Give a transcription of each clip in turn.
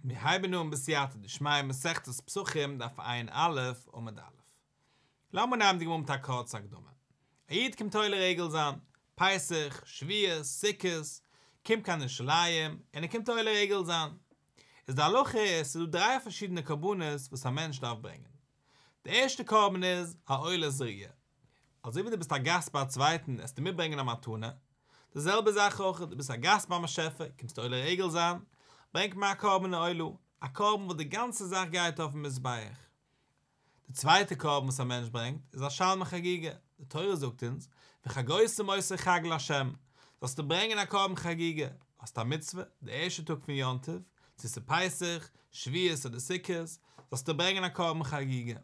מיר הייבן אן בסייעתא דשמיא מסכת פסחים דף ע"א עמוד א'. לאמיר נעמען די גמרא מיט א קורצע הקדמה. א איד קומט עולה רגל זיין, פסח, שבועות, סוכות, קומט קיין ירושלים, און ער קומט עולה רגל זיין. איז די הלכה איז ס'איז דא דריי פארשידענע קרבנות וואס א מענטש דארף ברענגען. די ערשטע קרבן איז א עולת ראיה. אזוי ווי דו ביסט א גאסט ביי א צווייטן עסטו מיטברענגען א מתנה, די זעלבע זאך אויך, דו ביסט א גאסט ביים באשעפער, קומסט עולה רגל זיין, ברענגט מען א קרבן עולה, א קרבן וואס די גאנצע זאך גייט אויפן מזבח. די צווייטע קרבן וואס א מענטש ברענגט איז א שלמי חגיגה, די תורה זאגט אונז, וחגותם אותו חג לה', זאלסטו ברענגען א קרבן חגיגה, האסט א מצוה, די ערשטע טאג פון יום טוב, צו ס'איז פסח, שבועות אדער סוכות, זאלסטו ברענגען א קרבן חגיגה.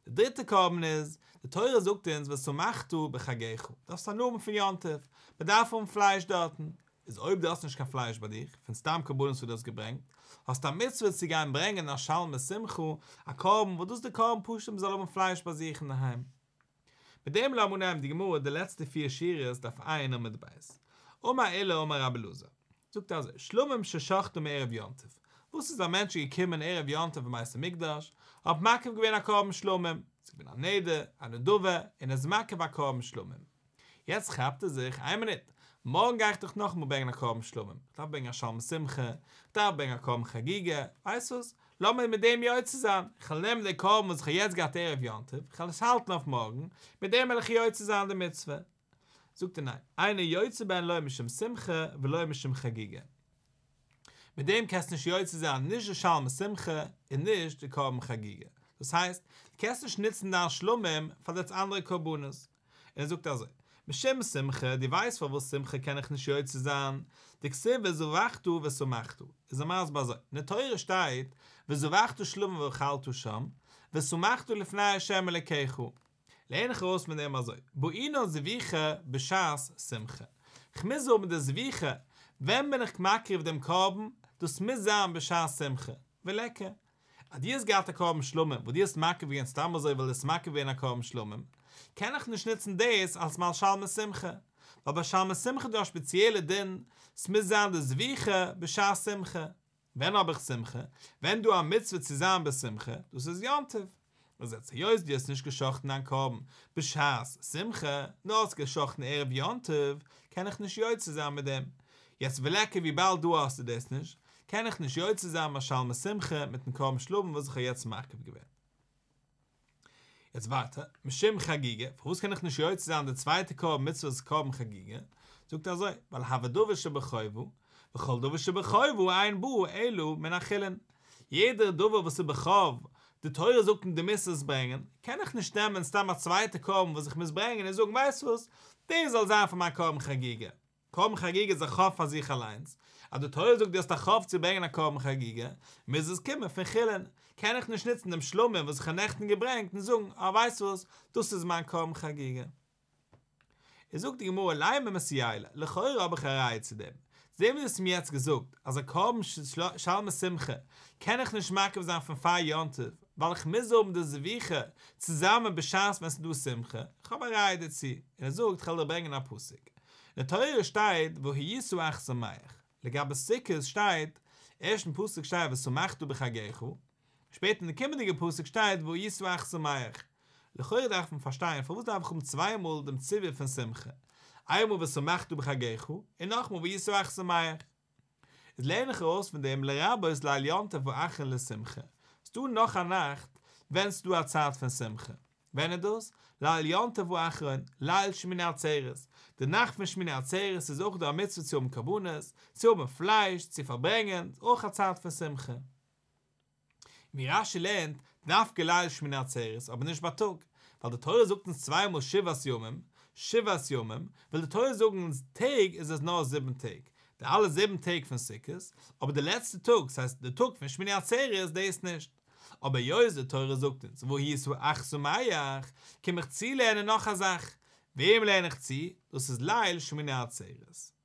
די דריטע קרבן איז, די תורה זאגט אונז ושמחת בחגך, דארפסט הנאה האבן פון יום טוב, מען דארף האבן פלייש דארטן, איז אויב דו האסט נישט קיין פלייש ביי דיך, פון סתם קרבנות וואס דו האסט געברענגט, האסטו א מצוה צו גיין ברענגען א שלמי שמחה, א קרבן וואס דאס איז די קרבן פשוט מען זאל האבן פלייש ביי זיך אינדערהיים. מיט דעם לאמיר נעמען די גמרא די לעצטע פיר שורות דף ע' עמוד ב'. אמר עולא אמר רבי אלעזר, זאגט ער אזוי, שלמים ששחטן מערב יום טוב, וואס איז א מענטש געקומען ערב יום טוב אין בית המקדש, האט מקריב געווען א קרבן שלמים, ס'איז געווען א נדר, א נדבה, און ער איז מקריב א קרבן שלמים. יעצט כאפט ער זיך, איין מינוט, מארגן גיי איך דאך נאכאמאל ברענגען א קרבן שלמים, איך דארף ברענגען א שלמי שמחה, איך דארף ברענגען א קרבן חגיגה, ווייסט וואס, לאמיר מיט דעם יוצא זיין, איך וועל נעמען די קרבן וואס איך האב יעצט געהאט ערב יום טוב, איך וועל עס האלטן אויף מארגן, מיט דעם וועל איך יוצא זיין די מצוה. זאגט ער ניין, אינו יוצא בהן לא משום שמחה ולא משום חגיגה. מיט דעם קענסטו נישט יוצא זיין נישט די שלמי שמחה און נישט די קרבן חגיגה. דאס הייסט, דו קענסט נישט נוצן דיין שלמים פאר די אנדערע קרבנות. און ער זאגט אזוי, משום שמחה, דו ווייסט פארוואס שמחה קען איך נישט יוצא זיין, דכתיב וזבחת ושמחת, איז ער מסביר אזוי, אין די תורה שטייט וזבחת שלמים ואכלת שם, ושמחת לפני ה' אלוקיך, לערן איך ארויס פון דעם אזוי, בעינן זביחה בשעת שמחה, כ'מוז האבן די זביחה, ווען בין איך מקריב דעם קרבן, דאס מוז זיין בשעת שמחה, וליכא, אז דו האסט געהאט א קרבן שלמים וואס דו האסט מקריב געווען סתם אזוי ווייל דו האסט מקריב געווען א קרבן שלמים, קען איך נישט נוצן דאס אלס מיין שלמי שמחה, ווייל ביי שלמי שמחה איז דא א שפעציעלע דין, ס'מוז זיין די זביחה בשעת שמחה. ווען האב איך שמחה? ווען דא א מצוה צו זיין בשמחה, דאס איז יום טוב. איז יעצט היות דו האסט נישט גע'שחט'ן דיין קרבן בשעת שמחה, נאר האסט גע'שחט'ן ערב יום טוב, קען איך נישט יוצא זיין מיט דעם. יעצט וליכא וויבאלד דא האסטו דאס נישט, קען איך נישט יוצא זיין מיין שלמי שמחה מיטן קרבן שלמים וואס איך האב יעצט מקריב געווען. יעצט ווייטער, משום חגיגה, פארוואס קען איך נישט יוצא זיין די צווייטע קרבן מצוות קרבן חגיגה? זאגט ער אזוי, ווייל הוי דבר שבחובה, וכל דבר שבחובה אין בא אלא מן החולין. יעדער דבר וואס איז בחוב, די תורה זאגט אונז דו מוזט עס ברענגען, קען איך נישט נעמען סתם א צווייטע קרבן וואס איך מוז ברענגען און זאגן ווייסט וואס, דאס זאל זיין פאר מיין קרבן חגיגה. קרבן חגיגה איז א חוב פאר זיך אליינס, אז די תורה זאגט דו האסט א חוב צו ברענגען א קרבן חגיגה, מוז עס קומען פון חולין, קען איך נישט נוצן דעם שלמים וואס איך האב נעכטן געברענגט און זאגן, אה ווייסט וואס, דאס איז מיין קרבן חגיגה. איז זאגט די גמרא לימא מסייע ליה, לכאורה האב איך א ראיה צו דעם, צו דעם וואס דו האסט מיר יעצט געזאגט אז א קרבן שלמי שמחה קען איך נישט מקריב זיין פון פאר יום טוב, ווייל איך מוז האבן די זביחה צוזאמען בשעת ווען ס'איז דא שמחה, איך האב א ראיה דערצו, און ער זאגט כ'וועל דיר ברענגען א פסוק, אין די תורה שטייט והיית אך שמח, לגבי סוכות שטייט, ערשטן פסוק שטייט ושמחת בחגך, שפעטער אין די קומענדיגע פסוק שטייט והיית אך שמח, לכאורה דארף מען פארשטיין פארוואס דארף איך האבן צוויי מאל דעם ציווי פון שמחה, איינמאל ושמחת בחגך און נאכמאל והיית אך שמח. איז לערן איך ארויס פון דעם לרבות ליל יום טוב האחרון לשמחה, ס'דא נאך א נאכט ווען ס'דא א צייט פון שמחה, ווען איז דאס? ליל יום טוב האחרון, ליל שמיני עצרת, די נאכט פון שמיני עצרת איז אויך דא א מצוה צו האבן קרבנות, צו האבן פלייש, צו פארברענגען, אויך א צייט פון שמחה. ווי רש"י לערנט, דווקא ליל שמיני עצרת, אבער נישט בייטאג, ווייל די תורה זאגט אונז צוויי מאל שבעת ימים, שבעת ימים, וויל די תורה זאגן אונז טעג איז עס נאר זיבן טעג, די אלע זיבן טעג פון סוכות, אבער די לעצטע טאג, ס'הייסט די טאג פון שמיני עצרת, דאס נישט. אבער היות די תורה זאגט אונז והיית אך שמח, קום איך צולערנען נאך א זאך, וועם לערן איך צו? דאס איז ליל שמיני עצרת.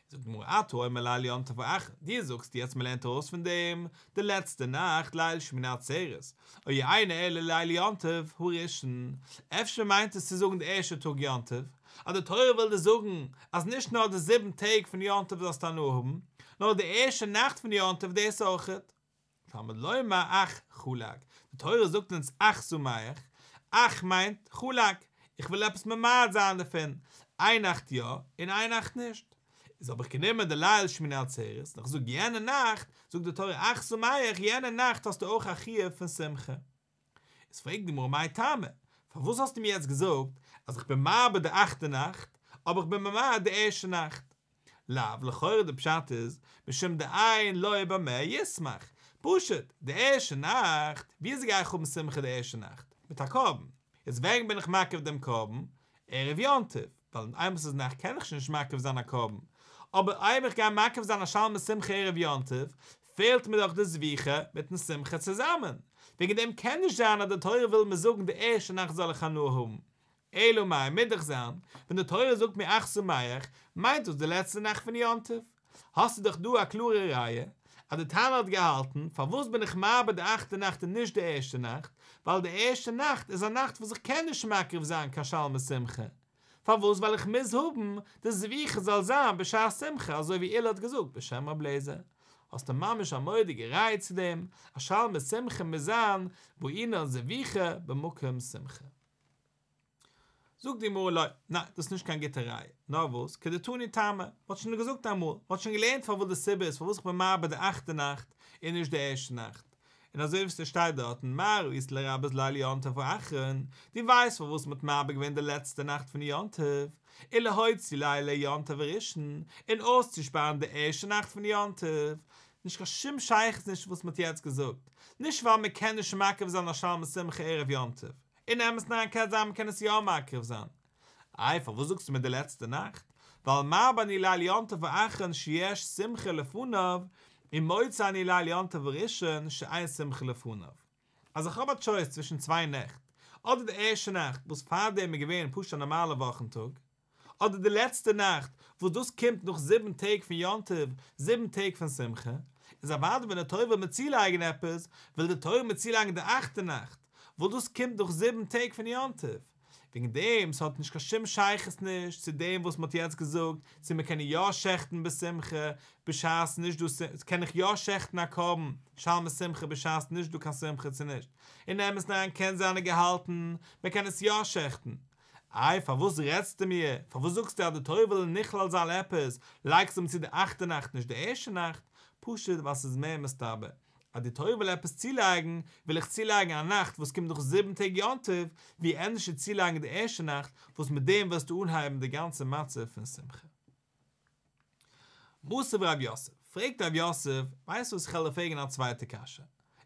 זאגט די גמרא אתה אומר ליל יום טוב האחרון, דו זאגסט יעצט מען לערנט ארויס פון דעם די לעצטע נאכט ליל שמיני עצרת, או אינו אלא ליל יום טוב הראשון, אפשר מיינט עס צו זאגן די ערשטע טאג יום טוב, אז די תורה וויל דיר זאגן אז נישט נאר די זיבן טעג פון יום טוב זאלסטו הנאה האבן, נאר די ערשטע נאכט פון יום טוב דאס אויכעט. תלמוד לומר אך חלק, די תורה זאגט אונז אך שמח, אך מיינט חלק, איך וויל עפעס ממעט זיין דערפון, איין נאכט יא און איין נאכט נישט. איז האב איך גענומען די ליל שמיני עצרת און איך זאג יענע נאכט, זאגט די תורה אך שמח, יענע נאכט האסטו אויך א חיוב פון שמחה. איז פרעגט די גמרא מאי טעמא, פארוואס האסטו מיר יעצט געזאגט אז איך בין מרבה די אכטע נאכט, אבער איך בין ממעט די ערשטע נאכט? לאו, לכאורה די פשט איז, משום דאין לו במה ישמח, פשוט, די ערשטע נאכט, וויאזוי גיי איך האבן שמחה די ערשטע נאכט? מיט א קרבן, יעצט ווען בין איך מקריב דעם קרבן? ערב יום טוב, ווייל איינמאל ס'איז נאכט קען איך שוין נישט מקריב זיין א קרבן, אבער אויב איך גיי מקריב זיין א שלמי שמחה ערב יום טוב, פעלט מיר דאך די זביחה מיטן שמחה צוזאמען, וועגן דעם קען נישט זיין אז די תורה וויל מיר זאגן די ערשטע נאכט זאל איך הנאה האבן, אלא מאי מוז דאך זיין, ווען די תורה זאגט מיר אך שמח, מיינט דאס די לעצטע נאכט פון יום טוב. האסטו דאך דא א קלארע ראיה אז די תנא האט געהאלטן, פארוואס בין איך מרבה די אכטע נאכט און נישט די ערשטע נאכט, ווייל די ערשטע נאכט איז א נאכט וואס איך קען נישט מקריב זיין קיין שלמי שמחה, פארוואס ווייל איך מוז האבן די זביחה זאל זיין בשעת שמחה אזוי ווי עולא האט געזאגט בשם רב לעזער, האסטו ממש א מורא'דיגע ראיה צו דעם אז שלמי שמחה מוז זיין בעינן זביחה במקום שמחה. זאגט די גמרא לא, ניין, דאס איז נישט קיין גוטע ראיה, נאר וואס, כדתני טעמא, מען האט שוין געזאגט אמאל, מען האט שוין געלערנט פארוואס די סיבה איז פארוואס איך בין מרבה די אכטע נאכט און נישט די ערשטע נאכט, און אזוי ווי ס'שטייט דארטן מה ראית לרבות ליל יום טוב האחרון, דו ווייסט פארוואס מען האט מרבה געווען די לעצטע נאכט פון יום טוב, ולהוציא לילי יום טוב הראשון, און אויסצושפארן די ערשטע נאכט פון יום טוב, נישט קיין שום שייכות נישט וואס מען האט יעצט געזאגט, נישט ווייל מען קען נישט מקריב זיין א שלמי שמחה ערב יום טוב, אין אמת'ן אריין קען זיין מ'קען עס יא מקריב זיין. איי פארוואס זאגסטו מיר די לעצטע נאכט? ווייל מרבה אני ליל יום טוב האחרון שיש שמחה לפניו, ומוציא אני ליל יום טוב הראשון שאין שמחה לפניו. אז איך האב א טשויס צווישן צוויי נעכט, אדער די ערשטע נאכט וואס פארדעם איז געווען פשוט א נארמאלע וואכן טאג, אדער די לעצטע נאכט וואס דאס קומט נאך זיבן טעג פון יום טוב, זיבן טעג פון שמחה, איז אוודאי ווען די תורה וויל מיר צולייגן עפעס, וויל די תורה מיר צולייגן די אכטע נאכט, וואס דאס קומט נאך זיבן טעג פון יום טוב. וועגן דעם, ס'האט נישט קיין שום שייכות נישט צו דעם וואס מ'האט יעצט געזאגט, צו מ'קען יא שעכטן בשמחה בשעת נישט דא, קען איך יא שעכטן א קרבן שלמי שמחה בשעת נישט דא קיין שמחה צו נישט. אין אמת'ן אריין קען זיין ער געהאלטן, מ'קען עס יא שעכטן. איי פארוואס רעדסטו מיר, פארוואס זאגסטו אז די תורה וויל נכלל זיין עפעס, לייגסטו אים צו די אכטע נאכט נישט די ערשטע נאכט, פשוט ווייל ס'איז מער מסתבר אז די תורה וויל עפעס צולייגן, וויל איך צולייגן א נאכט וואס קומט נאך זיבן טעג יום טוב, ווי ענדערש צו צולייגן די ערשטע נאכט וואס מיט דעם וועסטו אנהייבן די גאנצע מצב פון שמחה. מתיב רב יוסף, פרעגט רב יוסף, ווייסט וואס איך וועל דיר פרעגן א צווייטע קשיא,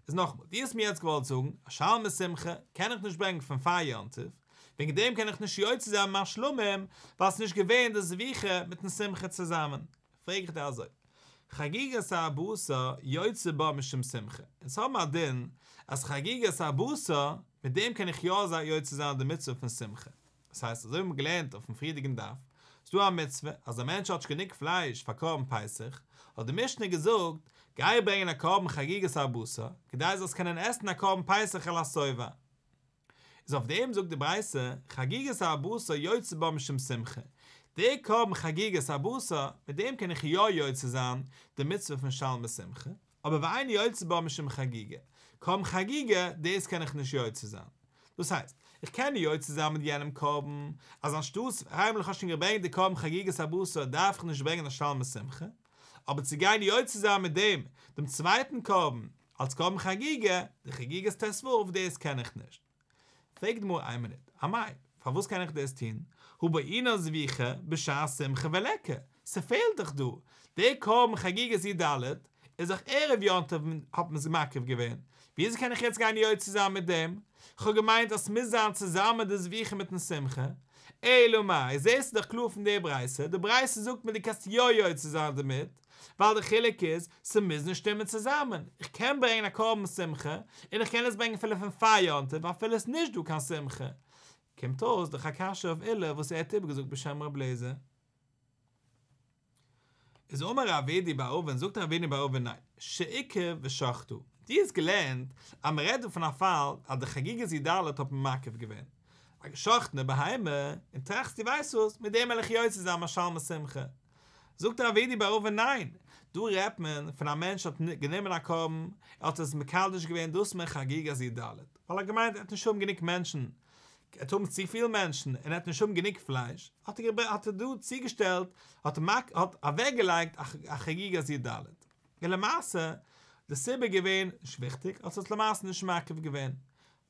איז נאכאמאל, דו האסט מיר יעצט געוואלט זאגן אז שלמי שמחה קען איך נישט ברענגען פון פאר יום טוב, וועגן דעם קען איך נישט יוצא זיין מיין שלמים, ווייל ס'איז נישט געווען די זביחה מיטן שמחה צוזאמען, פרעג איך דיר אזוי, חגיגת ארבעה עשר יוצא בה משום שמחה, אונז האבן א דין אז חגיגת ארבעה עשר, מיט דעם קען איך יא יוצא זיין די מצוה פון שמחה. דאס הייסט אזוי ווי מ'האט געלערנט אויפן פריערדיגן דף, ס'דא א מצוה אז א מענטש האט נישט גענוג פלייש פאר קרבן פסח, האט די משנה געזאגט, גיי ברענגען א קרבן חגיגת ארבעה עשר, כדי זאלסט קענען עסן א קרבן פסח על השובע. איז אויף דעם זאגט די ברייתא, חגיגת ארבעה עשר יוצא בה משום שמחה, די קרבן חגיגת ארבעה עשר, מיט דעם קען איך יא יוצא זיין די מצוה פון שלמי שמחה, אבער ואין יוצא בה משום חגיגה, קרבן חגיגה, דאס קען איך נישט יוצא זיין. דאס הייסט, איך קען יוצא זיין מיט יענעם קרבן, אז אנשטאטס איינמאל איך האב שוין געברענגט די קרבן חגיגת ארבעה עשר דארף איך נישט ברענגען א שלמי שמחה, אבער צו גיין יוצא זיין מיט דעם דעם צווייטן קרבן אלס קרבן חגיגה, די חגיגת ט"ו, דאס קען איך נישט. פרעגט די גמרא איין מינוט, אמאי, פארוואס קען איך דאס טון? הא בעינן זביחה בשעת שמחה וליכא, ס'פעלט דאך דא, דער קרבן חגיגת י"ד איז דאך ערב יום טוב האט מען עס מקריב געווען, וויאזוי קען איך יעצט גיין יוצא זיין מיט דעם? כ'האב געמיינט אז ס'מוז זיין צוזאמען די זביחה מיטן שמחה, אלא מאי, זעסטו דאך קלאר פון די ברייתא, די ברייתא זאגט מיר דו קענסט יא יוצא זיין דערמיט, ווייל די חילוק איז, ס'מוז נישט שטימען צוזאמען, איך קען ברענגען א קרבן שמחה, און איך קען עס ברענגען אפילו פון פאר יום טוב אפילו עס איז נישט דא קיין שמחה. קומט אויס דאך א קשיא אויף עולא וואס ער האט איבערגעזאגט בשם ר' אליעזר. איז אמר רב אידי בר אבין, זאגט רב אידי בר אבין ניין, שעיכב ושחטה, דו האסט געלערנט אז מען רעדט דא פון א פאל אז די חגיגת י"ד האט מען מעכב געווען א געשאכטענע בהמה, און טראכסט דו ווייסט וואס, מיט דעם וועל איך יוצא זיין מיין שלמי שמחה. זאגט רב אידי בר אבין ניין, דא רעדט מען פון א מענטש האט גענומען א קרבן, ער האט עס מקדש געווען דאס מאל חגיגת י"ד, ווייל ער האט געמיינט ער וועט נישט האבן גענוג מענטשן, ער וועט האבן צופיל מענטשן און ער וועט נישט האבן גענוג פלייש, האט ער האט ער דא צוגעשטעלט, האט האט אוועקגעלייגט א חגיגת י"ד. און למעשה, די סיבה איז געווען נישט וויכטיג, האט עס למעשה נישט מקריב געווען.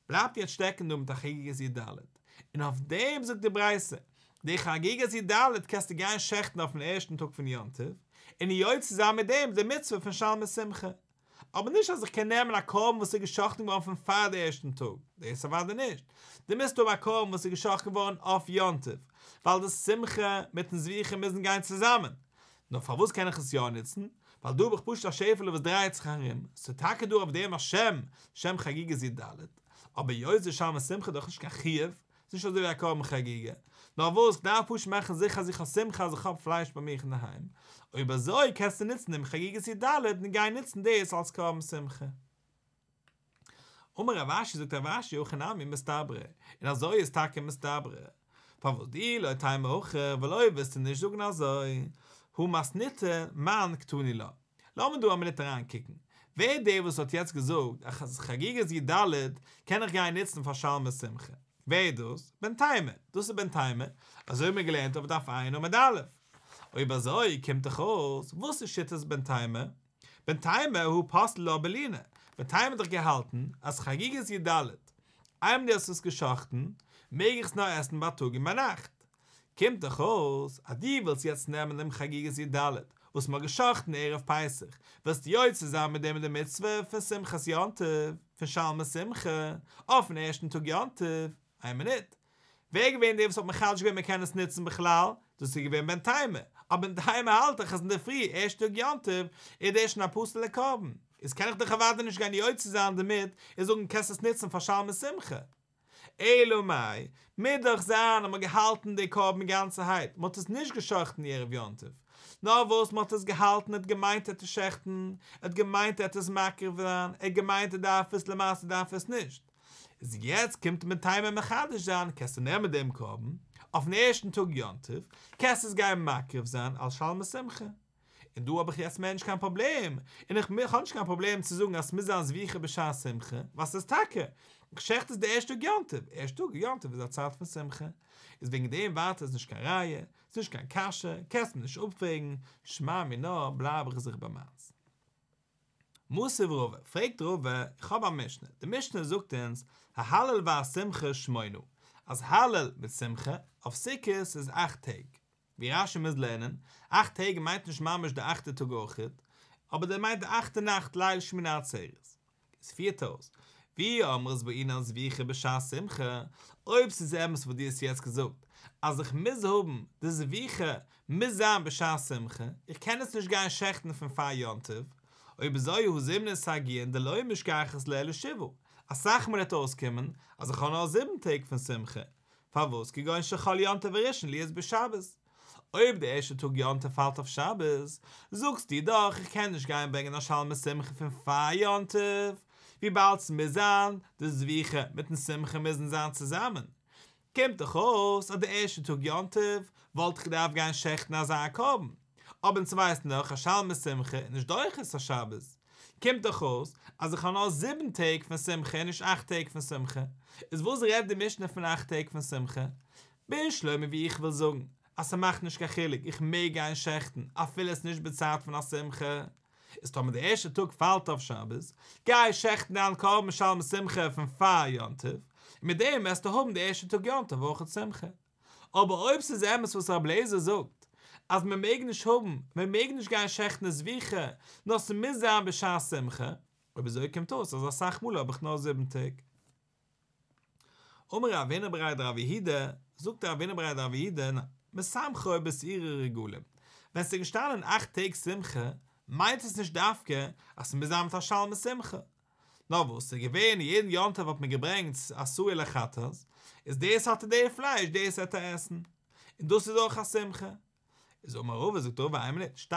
בלייבט יעצט שטעקן דא מיט א חגיגת י"ד, און אויף דעם זאגט די ברייתא, די חגיגת י"ד קענסטו גיין שעכטן אויפן ערשטן טאג פון יום טוב, און יוצא זיין מיט דעם די מצוה פון שלמי שמחה. אבער נישט אז איך קען נעמען א קרבן וואס איז געשאכטן געווארן פון פאר די ערשטן טאג, דאס אוודאי נישט, דו מוזט האבן א קרבן וואס איז געשאכטן געווארן אויף יום טוב, ווייל די שמחה מיטן זביחה מוזן גיין צוזאמען. נאר פארוואס קען איך עס יא נוצן? ווייל דא האב איך פשוט א שעפעלע וואס דרייעט זיך ארום, ס'איז טאקע דא אויף דעם א שם, שם חגיגת י"ד, אבער היות די שלמי שמחה איז דאך נישט קיין חיוב, ס'איז נישט אזוי ווי א קרבן חגיגה, נאר וואס כ'דארף פשוט מאכן זיכער אז איך האב שמחה אז איך האב פלייש ביי מיך אינדערהיים, אויב אזוי קענסטו נוצן דעם חגיגת י"ד און גיין נוצן דאס אלס קרבן שמחה. אמר רב אשי זאגט רב אשי הכי נמי מסתברא, און אזוי איז טאקע מסתברא, פארוואס דאי לא תימא הכי ווייל אויב וועסטו נישט זאגן אזוי, הא מתניתין מאן קתני לה. לאמיר דא א מינוט אריין קוקן, ווער איז דער וואס האט יעצט געזאגט אז חגיגת י"ד קען איך גיין נוצן פאר שלמי שמחה? ווער איז דאס? בן תימא, דאס איז בן תימא, אזוי האבן מיר געלערנט אויף דף ע' עמוד א'. אויב אזוי קומט דאך אויס, וואס איז שיטת בן תימא? בן תימא הא פסל לה בלינה, בן תימא האט דאך געהאלטן אז חגיגת י"ד, איינמאל דו האסט עס גע'שחט'ן, מעג איך עס נאר עסן בייטאג און ביינאכט. קומט דאך אויס אז דו ווילסט יעצט נעמען דעם חגיגת י"ד וואס מ'האט גע'שחט'ן ערב פסח, ווילסטו יוצא זיין מיט דעם די מצוה פון שמחת יום טוב, פון שלמי שמחה, אויפן ערשטן טאג יום טוב. איין מינוט, ווער איז געווען דער וואס האט מחדש געווען מען קען עס נוצן בכלל? דאס איז געווען בן תימא, אבער בן תימא האלט דאך אז אינדערפרי ערשט טאג יום טוב איז דאס שוין א פסול'ע קרבן, איז קען איך דאך אוודאי נישט גיין יוצא זיין דערמיט און זאגן קענסט עס נוצן פאר שלמי שמחה. אלא מאי, מוז דאך זיין אז מען האט געהאלטן די קרבן גאנצערהייט, מען האט עס נישט גע'שחט'ן ערב יום טוב, נאר וואס מען האט עס געהאלטן ער האט געמיינט ער וועט עס שעכטן, ער האט געמיינט ער וועט עס מקריב זיין, ער האט געמיינט ער דארף עס, למעשה דארף ער עס נישט. איז יעצט קומט בן תימא מחדש זיין, קענסטו נעמען דעם קרבן, אויפן ערשטן טאג יום טוב, קענסט עס גיין מקריב זיין אלס שלמי שמחה. און דא האב איך יעצט מער נישט קיין פראבלעם, און איך האב נישט קיין פראבלעם צו זאגן אז ס'מוז זיין זביחה בשעת שמחה, ווייל ס'איז טאקע, איך שעכט עס די ערשטע טאג יום טוב, ערשטע טאג יום טוב איז א צייט פון שמחה, איז וועגן דעם ווייטער איז נישט קיין ראיה, ס'איז נישט קיין קשיא, קענסט מיר נישט אפפרעגן, שמע מינה בלייב איך זיך ביי מיינס. מתיב רבא, פרעגט רבא, איך האב א משנה, די משנה זאגט אונז, ההלל והשמחה שמונה, אז הלל מיט שמחה, אויף סוכות איז אכט טעג. ווי רש"י מוז לערנען, אכט טעג מיינט נישט ממש די אכטע טאג אויכעט, אבער דער מיינט די אכטע נאכט ליל שמיני עצרת. עס פירט אויס, ואי אמרת בעינן זביחה בשעת שמחה, אויב ס'איז אמת וואס דו האסט יעצט געזאגט, אז איך מוז האבן די זביחה מוז זיין בשעת שמחה, איך קען עס נישט גיין שעכטן פון פאר יום טוב, אויב אזוי הא זימנין סגיאין דלא משכחת לה אלא שבעה, אסאך מאל וועט אויסקומען אז איך האב נאר זיבן טעג פון שמחה, פארוואס כגון שחל יום טוב הראשון להיות בשבת? אויב די ערשטע טאג יום טוב פאלט אויף שבת, זאגסטו דאך איך קען נישט גיין ברענגען א שלמי שמחה פון פאר יום טוב, וויבאלד ס'מוז זיין די זביחה מיטן שמחה מוזן זיין צוזאמען, קומט דאך אויס אז די ערשטע טאג יום טוב וואלט איך געדארפט גיין שעכטן אזא קרבן, אבער אונז ווייסן דאך אז שלמי שמחה איז נישט דוחה את השבת, קומט דאך אויס אז איך האב נאר זיבן טעג פון שמחה און נישט אכט טעג פון שמחה, איז וואס רעדט די משנה פון אכט טעג פון שמחה? בשלמא ווי איך וויל זאגן אז ס'מאכט נישט קיין חילוק איך מעג גיין שעכטן אפילו עס נישט בצייט פון א שמחה, איז טאמער די ערשטע טאג פאלט אויף שבת, גיי שעכטן דיין קרבן שלמי שמחה פון פאר יום טוב, און מיט דעם וועסטו האבן די ערשטע טאג יום טוב אויכעט שמחה. אבער אויב ס'איז אמת וואס רבי אליעזר זאגט, אז מען מעג נישט האבן, מען מעג נישט גיין שעכטן די זביחה, נאר ס'מוז זיין בשעת שמחה, אויב אזוי קומט אויס אז אסאך מאל האב איך נאר זיבן טעג. אמר רב הונא בריה דרב יהודה, זאגט רב הונא בריה דרב יהודה, משמחו בשעירי רגלים, ווען ס'איז געשטאנען אכט טעג שמחה, מיינט עס נישט דווקא אז ס'מוז זיין מיט א שלמי שמחה, נאר וואס ס'איז געווען יעדן יום טוב האט מען געברענגט א שעיר לחטאת, איז דאס האט ער די פלייש דאס וועט ער עסן, און דאס איז אויך א שמחה. איז אמר רבא זאגט רבא איין מינוט, שתי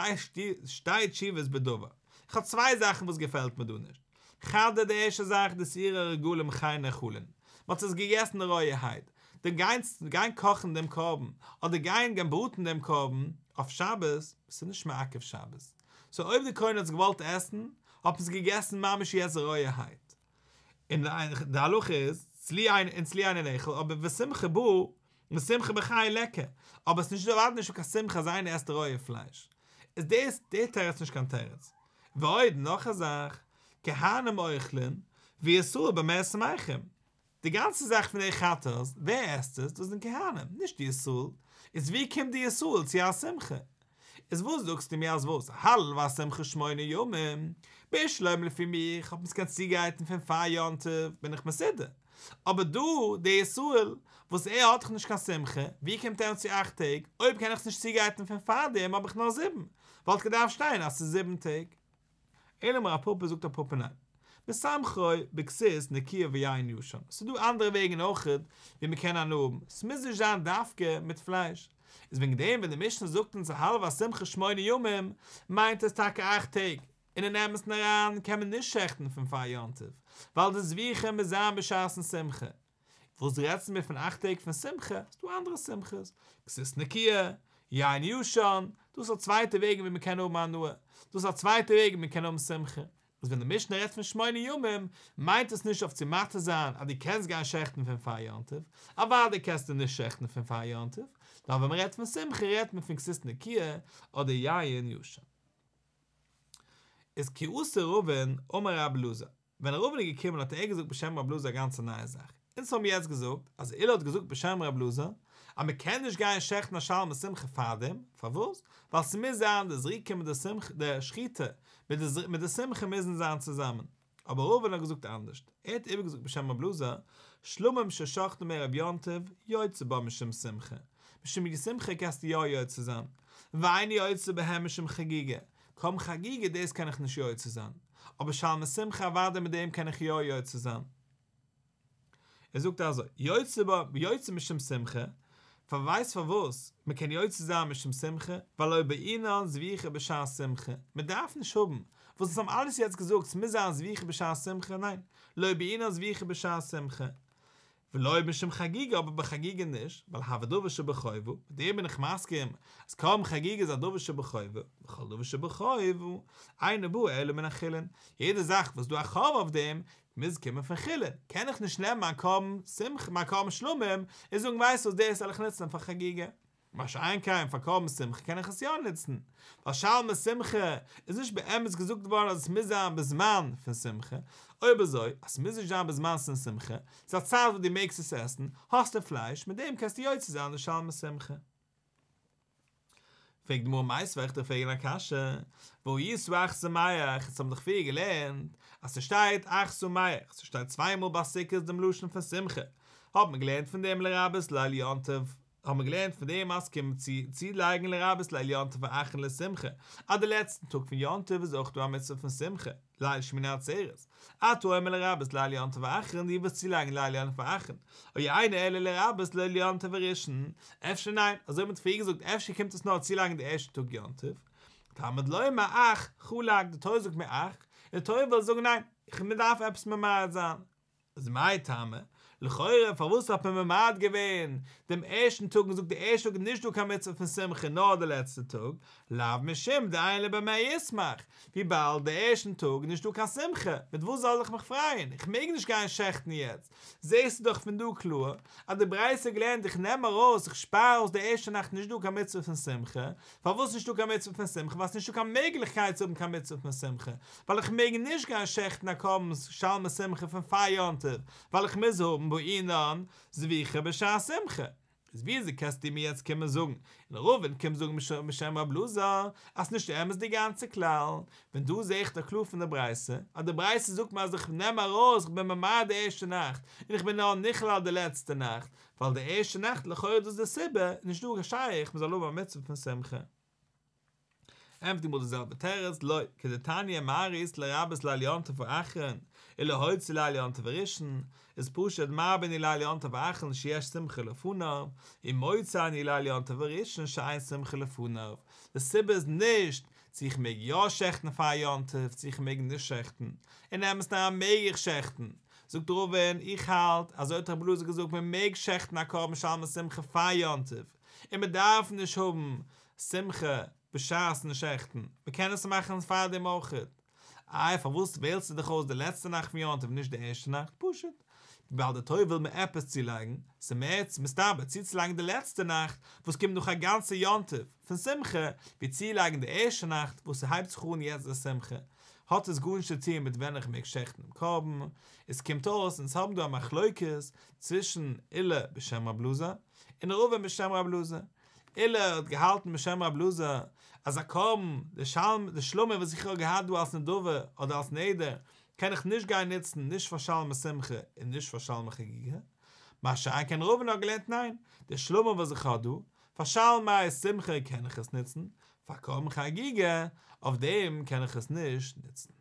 שתי תשובות בדבר, איך האב צוויי זאכן וואס געפעלט מיר דא נישט, חדא די ערשטע זאך דשעירי הרגלים חי נאכלין, מען האט עס געגעסן רויערהייט, די גיין גיין קאכן דעם קרבן, אדער גיין גיין בראטן דעם קרבן אויף שבת, עס איז נישט מעכב שבת. סאו אויב די כהן האט עס געוואלט עסן, האט מען עס געגעסן ממש יעצט רויערהייט. און די הלכה איז, צלי אין און צלי אינו נאכל, אבער ושמחה בא, ושמחה בחי ליכא, אבער עס איז נישט אוודאי נישטא קיין שמחה אז איינער עסט רויע פלייש. איז דאס די תירוץ נישט קיין תירוץ. ועוד, נאך א זאך, כהנים אוכלין, וישראל במה שמחים. די גאנצע זאך פון די חטאת, ווער עסט עס? דאס זענען כהנים, נישט די ישראל. איז ווי קומט די ישראל צו א שמחה? איז וואס זאגסטו מיר אז וואס? הלל והשמחה שמונה ימים, בשלמא לפי מיך האט מען עס געקענט צוגרייטן פון פאר יום טוב בין איך מסודר, אבער דא די ישראל וואס ער האט דאך נישט קיין שמחה, ווי קומט ער אן צו אכט טעג? אויב קען איך עס נישט צוגרייטן פון פארדעם האב איך נאר זיבן, וואלט געדארפט שטיין אז ס'איז זיבן טעג. אלא אמר רב פפא זאגט רב פפא ניין. משמחו בכסות נקיה ויין ישן, ס'איז דא אנדערע וועגן אויכעט ווי מ'קען הנאה האבן, ס'מוז נישט זיין דווקא מיט פלייש. איז וועגן דעם ווען די משנה זאגט אונז הלל והשמחה שמונה ימים, מיינט עס טאקע אכט טעג, און אין אמת'ן אריין קען מען נישט שעכטן פון פאר יום טוב, ווייל די זביחה מוז זיין בשעת'ן שמחה. וואס רעדסטו מיר פון אכט טעג פון שמחה, ס'דא אנדערע שמחות, כסות נקיה, יין ישן, דאס איז א צווייטע וועג ווי מ'קען האבן הנאה, דאס איז א צווייטע וועג ווי מ'קען האבן שמחה, איז ווען די משנה רעדט פון שמונה ימים, מיינט עס נישט אויף צו מתיר זיין אז דו קענסט גיין שעכטן פון פאר יום טוב, אוודאי קענסטו נישט שעכטן פון פאר יום טוב, נאר ווען מ'רעדט פון שמחה רעדט מען פון כסות נקיה אדער יין ישן. איז כי אתא רבין אמר רבי אלעזר, ווען רבין איז געקומען האט ער געזאגט בשם רבי אלעזר א גאנצע נייע זאך, אונז האבן יעצט געזאגט אז עולא האט געזאגט בשם רבי אלעזר אז מען קען נישט גיין שעכטן א שלמי שמחה פארדעם, פארוואס? ווייל ס'מוז זיין די זריקה מיט די שמחה, די שחיטה מיט די מיט די שמחה מוזן זיין צוזאמען, אבער רבין האט געזאגט אנדערשט, ער האט איבערגעזאגט בשם רבי אלעזר, שלמים ששחטן מערב יום טוב יוצא בם משום שמחה, משום שמחה קענסטו יא יוצא זיין, ואין יוצא בהם משום חגיגה, קרבן חגיגה דאס קען איך נישט יוצא זיין, אבער שלמי שמחה אוודאי מיט דעם קען איך יא יוצא זיין. ער זאגט אזוי, יוצא בה, יוצא משום שמחה, פאר ווייסט פארוואס מען קען יוצא זיין משום שמחה, ווייל לא בעינן זביחה בשעת שמחה, מען דארף נישט האבן, וואס אונז האבן אלעס יעצט געזאגט ס'מוז זיין זביחה בשעת שמחה, ניין, לא בעינן זביחה בשעת שמחה, ולא משום חגיגה אבער ביי חגיגה נישט, ווייל הוי דבר שבחובה, מיט דעם בין איך מסכים אז קרבן חגיגה איז א דבר שבחובה, וכל דבר שבחובה אינו בא אלא מן החולין, יעדע זאך וואס איז דא א חוב אויף דעם, מוז קומען פון חולין, קען איך נישט נעמען מיין קרבן שמחה, מיין קרבן שלמים, און זאגן ווייסט וואס דאס וועל איך נוצן פאר חגיגה. מה שאין כן פאר קרבן שמחה קען איך עס יא נוצן, ווייל שלמי שמחה איז נישט באמת געזאגט געווארן אז עס מוז זיין בזמן פון שמחה, אויב אזוי אז ס'מוז נישט זיין בזמן פון שמחה, ס'איז א צייט וואס דו מעגסט עס עסן, האסטו פלייש, מיט דעם קענסטו יוצא זיין די שלמי שמחה. פרעגט די גמרא מיתיבי וועל איך דיר פרעגן א קשיא, והא היית אך שמח, אונז האבן דאך פריער געלערנט אז ס'שטייט אך שמח, ס'שטייט צוויי מאל ביי סוכות דעם לשון פון שמחה, האט מען געלערנט פון דעם לרבות ליל יום טוב, האבן מיר געלערנט פון דעם אז ס'קומט צו צולייגן לרבות ליל יום טוב האחרון לשמחה, אז די לעצטן טאג פון יום טוב איז אויך דא א מצוה פון שמחה, ליל שמיני עצרת, אתה אומר לרבות ליל יום טוב האחרון דו ווילסט צולייגן ליל יום טוב האחרון, או אינו אלא לרבות ליל יום טוב הראשון, אפשר ניין, אזוי האט מען פריער געזאגט אפשר קומט עס נאר צולייגן די ערשטע טאג יום טוב, תלמוד לומר אך, חלק, די תורה זאגט מיר אך, און די תורה וויל זאגן ניין, איך מען דארף עפעס ממעט זיין. איז מאי טעמא? לכאורה פארוואס האט מען ממעט געווען דעם ערשטן טאג און געזאגט די ערשטע טאג איז נישט דא קיין מצוה פון שמחה נאר די לעצטע טאג, לאו משום דאין לו במה ישמח, וויבאלד די ערשטן טאג איז נישט דא קיין שמחה, מיט וואס זאל איך מיך פרייען, איך מעג נישט גיין שעכטן יעצט, זעסטו דאך פון דא קלאר אז די ברייתא האט געלערנט איך נעם ארויס איך שפאר אויס די ערשטע נאכט נישט דא קיין מצוה פון שמחה, פארוואס נישטא קיין מצוה פון שמחה? ווייל ס'נישטא קיין מעגליכקייט צו האבן קיין מצוה פון שמחה, ווייל איך מעג נישט גיין שעכטן א קרבן שלמי שמחה פון פאר יום טוב, ווייל איך מוז האבן בעינן זביחה בשעת שמחה. איז וויאזוי קענסטו מיר יעצט קומען זאגן, און רבין קומט זאגן בשם רב אלעזר, אז ס'נישט אמת די גאנצע כלל, ווען דא זע איך דאך קלאר פון די ברייתא, אז די ברייתא זאגט מיר אז איך נעם ארויס, איך בין ממעט די ערשטע נאכט, און איך בין נאר נכלל די לעצטע נאכט, ווייל די ערשטע נאכט לכאורה איז דאס די סיבה, איז נישט דא שייך מען זאל האבן א מצוה פון שמחה. ענטפערט די גמרא די זעלבע תירוץ, לא, כדתניא מה ראית לרבות ליל יום טוב האחרון ולהוציא ליל יום טוב הראשון, איז פשוט מרבה אני ליל יום טוב האחרון שיש שמחה לפניו, ומוציא אני ליל יום טוב הראשון שאין שמחה לפניו, די סיבה איז נישט צו איך מעג יא שעכטן פאר יום טוב צו איך מעג נישט שעכטן, אין אמת'ן אריין מעג איך שעכטן, זאגט רבין, איך האלט, אזוי האט רבי אלעזר געזאגט מען מעג שעכטן א קרבן שלמי שמחה פאר יום טוב, און מען דארף נישט האבן שמחה. בשעת'ן שעכטן, מען קען עס מאכן פארדעם אויכעט. איי פארוואס וועלסטו דיך אויס די לעצטע נאכט פון יום טוב נישט די ערשטע נאכט? פשוט וויבאלד די תורה וויל מיר עפעס צולייגן, ס'איז מער מסתבר צוצולייגן די לעצטע נאכט וואס קומט נאך א גאנצע יום טוב פון שמחה, ווי צולייגן די ערשטע נאכט וואס ס'הייבט זיך אן יעצט די שמחה, האט עס גארנישט צו טון מיט ווען איך מעג שעכטן דעם קרבן, עס קומט אויס אונז האבן דא א מחלוקת צווישן עולא בשם רב אלעזר און רבין בשם רב אלעזר, עולא האט געהאלטן בשם רב אלעזר אז א קרבן, די שלמים וואס איך האב געהאט דא אלס נדבה אדער אלס נדר, קען איך נישט גיין נוצן נישט פאר שלמי שמחה און נישט פאר שלמי חגיגה, מה שאין כן רבין האט געלערנט ניין, די שלמים וואס איך האב דא, פאר שלמי שמחה קען איך עס נוצן, פאר קרבן חגיגה, אויף דעם קען איך עס נישט נוצן.